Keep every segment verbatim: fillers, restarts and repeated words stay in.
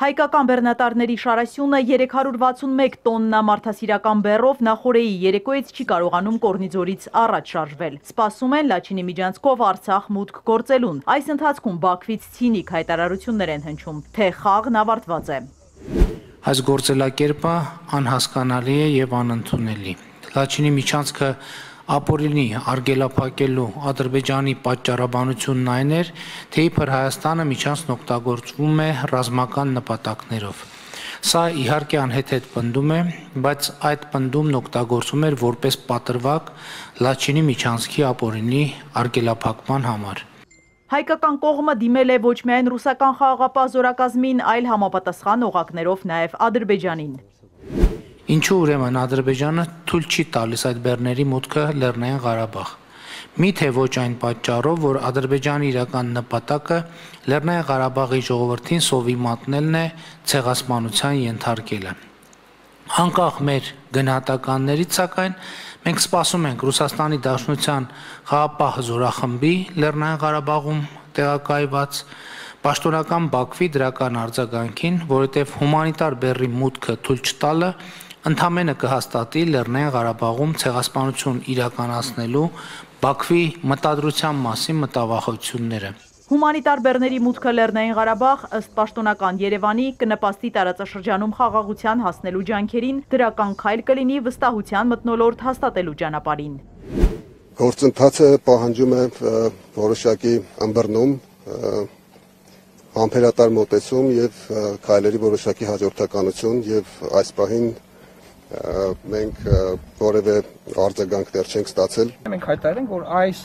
Հայկական բեռնատարների շարասյունը երեք հարյուր վաթսունմեկ տոննա մարդասիրական բեռով նախօրեի երեկոյից չի կարողանում Կորնիձորից առաջ շարժվել։ Սպասում են Լաչինի միջանցքով Արցախ մուտք գործելուն։ Այս ընթացքում Բաքվից ցինիկ հայտարարություններ են հնչում, թե խաղն ավարտված է։ Այս գործելակերպը անհասկանալի է եւ անընդունելի։ Լաչինի միջանցքը ապօրինի արգելափակելու Ադրբեջանի պատճառաբանությունն այն էր, թե իբր Հայաստանը միջանցքն օգտագործվում է ռազմական նպատակներով։ Սա իհարկե անհեթեթ պնդում է, բայց այդ պնդումն օգտագործվում էր որպես պատրվակ Լաչինի միջանցքի ապօրինի արգելափակման համար։ Հայկական կողմը դիմել է ոչ միայն ռուսական խաղաղապահ զորակազմին, այլ համապատասխան օղակներով նաև Ադրբեջանին։ Ինչու ուրեմն Ադրբեջանը թույլ չի տալիս այդ բեռների մուտքը Լեռնային Ղարաբաղ։ Միթե ոչ այն պատճառով, որ Ադրբեջանի իրական նպատակը Լեռնային Ղարաբաղի ժողովրդին սովի մատնելն է, ցեղասպանության ենթարկելը։ Անկախ մեր գնահատականներից, սակայն, մենք սպասում ենք Ռուսաստանի Դաշնության խաղաղապահ զորախմբի Լեռնային Ղարաբաղում տեղակայված պաշտոնական Բաքվի դրական արձագանքին, որովհետև հումանիտար բեռի մուտքը թույլ չտալը ընդամենը կհաստատի Լեռնային Ղարաբաղում ցեղասպանություն իրականացնելու Բաքվի մտադրության մասին մտավախությունները։ Հումանիտար բեռների մուտքը Լեռնային Ղարաբաղ ըստ պաշտոնական Երևանի կնպաստի տարածաշրջանում խաղաղության հասնելու ջանքերին, դրական քայլ կլինի վստահության մթնոլորտ հաստատելու ճանապարհին։ Գործընթացը պահանջում է որոշակի ըմբռնում, համբերատար մոտեցում եւ քայլերի որոշակի հաջորդականություն եւ այս պահին մենք որևէ արձագանք դեռ չենք ստացել։ Մենք հայտարարենք, որ այս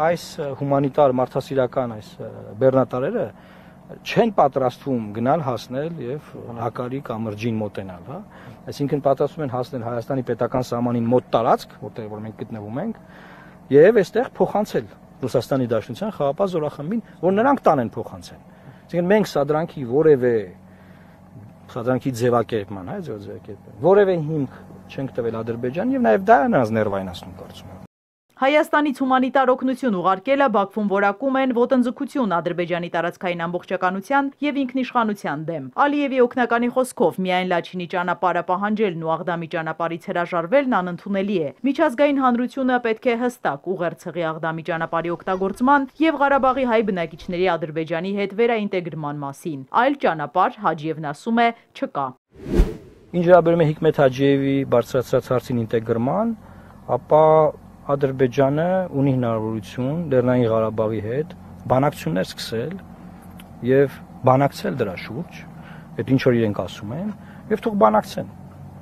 այս հումանիտար մարդասիրական այս բեռնատարերը չեն պատրաստվում գնալ հասնել եւ հակարի կամրջին մոտենալ, հա։ Այսինքն պատրաստվում են հասնել Հայաստանի պետական սահմանին մոտ տարածք, որտեղ որ մենք գտնվում ենք, եւ այստեղ փոխանցել Ռուսաստանի Դաշնության խաղաղապահ զորախմբին, որ նրանք տանեն փոխանցեն։ Այսինքն մենք սադրանքի որևէ սադրանքի ձևակերպման, հա, ձևակերպման, որևէ հիմք չենք տվել Ադրբեջանին եւ նաեւ դա է նրանց ներվայնացնում կարծում եմ։ Հայաստանից հումանիտար օգնություն ուղարկելը Բաքվում որակում են ոտնձգություն Ադրբեջանի տարածքային ամբողջականության եւ ինքնիշխանության դեմ։ Ալիևի օգնականի խոսքով միայն Լաչինի ճանապարհը պահանջելն ու Աղդամի ճանապարհից հրաժարվելն անընդունելի է։ Միջազգային հանրությունը պետք է հստակ ուղերձի Աղդամի ճանապարհի օգտագործման եւ Ղարաբաղի հայ բնակիչների Ադրբեջանի հետ վերաինտեգրման մասին։ Այլ ճանապարհ Հաջիևն ասում է չկա։ Ինչ վերաբերում է Հիկմեթ Հաջիևի բարձրացած հարցին ինտեգրման, ապա Ադրբեջանը ունի հնարավորություն Լեռնային Ղարաբաղի հետ բանակցություններ սկսել եւ բանակցել դրա շուրջ, այդ ինչ որ իրենք ասում են, եւ թող բանակցեն։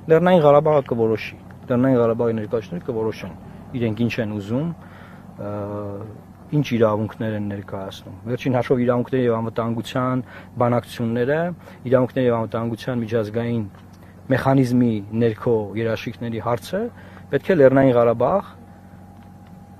Լեռնային Ղարաբաղը կորոշի, Լեռնային Ղարաբաղի ներկայացուցիչները կորոշեն իրենք ինչ են ուզում, ինչ իրավունքներ են ներկայացնում։ Վերջին հաշվով իրավունքների եւ անվտանգության բանակցությունները, իրավունքների եւ անվտանգության միջազգային մեխանիզմի ներքո երաշխիքների հարցը պետք է Լեռնային Ղարաբաղ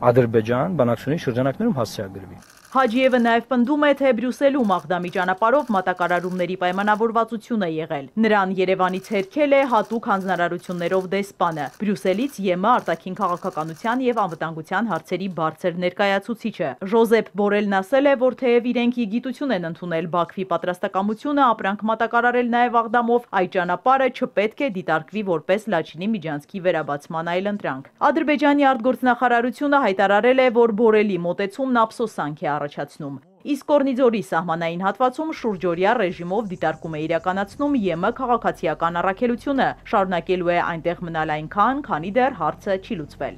Ադրբեջան բանակցությունների շրջանակներում հասցեագրվի։ Հաջիևը նաև պնդում է, թե Բրյուսելում Աղդամի ճանապարհով մատակարարումների պայմանավորվածություն է եղել։ Նրան Երևանից հերքել է հատուկ հանձնարարություններով դեսպանը, Բրյուսելից ԵՄ արտաքին քաղաքականության եւ անվտանգության հարցերի բարձր ներկայացուցիչը։ Ժոզեփ Բորելն ասել է, որ թեև իրենք իգիտություն են ընդունել Բաքվի պատրաստակամությունը ապրանք մատակարարել նաև Աղդամով, այդ ճանապարհը չպետք է դիտարկվի որպես Լաչինի միջանցքի վերաբացման այլընտրանք։ Ադրբեջանի արտգործնախարարությունը հայտարարել է, որ Բորելի մոտեցումն ափսոսանք է առաջացնում։ Իսկ Կորնիձորի սահմանային հատվածում շուրջօրյա ռեժիմով դիտարկում է իրականացնում ԵՄ քաղաքացիական առաքելությունը, շարունակելու է այնտեղ մնալ այնքան, քանի դեռ հարցը չի լուծվել։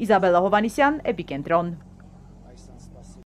Իզաբելլա Հովանիսյան, Էպիկենտրոն։